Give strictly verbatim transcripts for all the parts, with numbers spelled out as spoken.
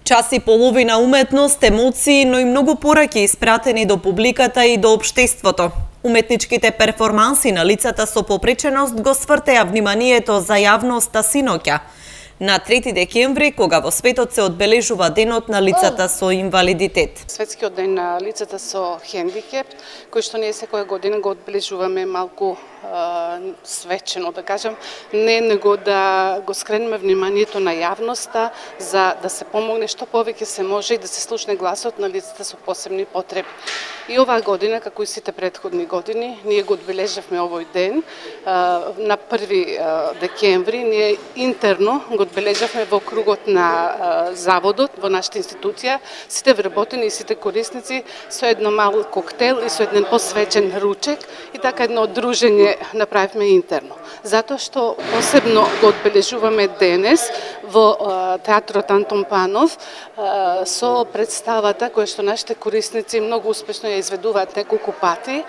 Час и половина уметност, емоции, но и многу пораки испратени до публиката и до општеството. Уметничките перформанси на лицата со попреченост го свртеа вниманието за јавноста синоќа, на трети декември, кога во светот се одбележува денот на лицата со инвалидитет. Светскиот ден на лицата со хендикеп, кој што ние секоја година го одбележуваме малку е, свечено, да кажам, не него да го скренеме вниманието на јавноста за да се помогне што повеќе се може и да се слушне гласот на лицата со посебни потреби. И оваа година, како и сите претходни години, ние го одбележавме овој ден е, на први декември, ние интерно го одбележавме во кругот на заводот, во нашата институција, сите вработени и сите корисници со едно мал коктел и со еден посвечен ручек и така едно дружење направивме интерно. Затоа што посебно го одбележуваме денес во театрот Антон Панов со представата која што нашите корисници многу успешно ја изведуваат неколку пати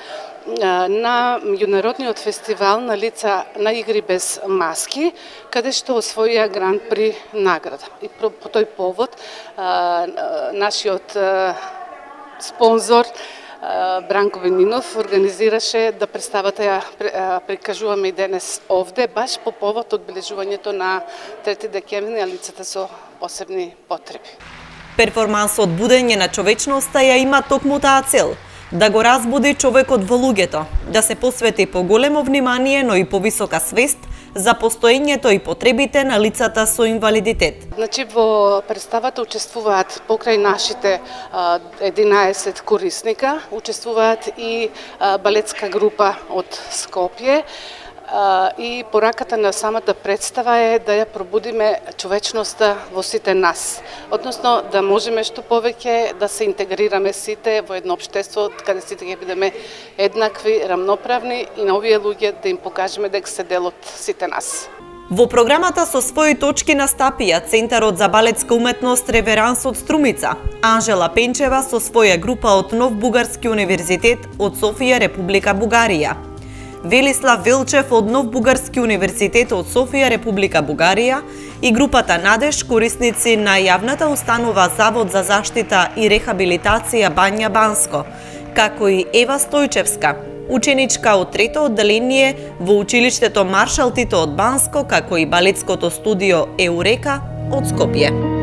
на меѓународниот фестивал на лица на игри без маски, каде што освоија гран при награда. И по, по тој повод нашиот спонзор Бранко Венинов организираше да представата ја прикажуваме и денес овде, баш по повод одбележувањето на трети декември на лицата со посебни потреби. Перформансот Будење на човечноста ја има токму таа цел – да го разбуди човекот во луѓето, да се посвети поголемо внимание, но и повисока свест за постоењето и потребите на лицата со инвалидитет. Значи, во представата учествуваат покрај нашите единаесет корисника, учествуваат и балетска група од Скопје, и пораката на самата представа е да ја пробудиме човечноста во сите нас. Односно, да можеме што повеќе да се интегрираме сите во едно општество, каде сите ќе бидеме еднакви, рамноправни и на овие луѓе да им покажеме дека се дел од сите нас. Во програмата со своји точки настапија Центарот за балетска уметност Реверанс од Струмица, Анжела Пенчева со своја група од Нов Бугарски универзитет од Софија, Република Бугарија, Велислав Велчев од Нов Бугарски универзитет од Софија, Република Бугарија и групата Надеж, корисници на јавната установа Завод за заштита и рехабилитација Бања Банско, како и Ева Стојчевска, ученичка од трето одделение во училиштето Маршал Тито од Банско, како и балетското студио Еурека од Скопје.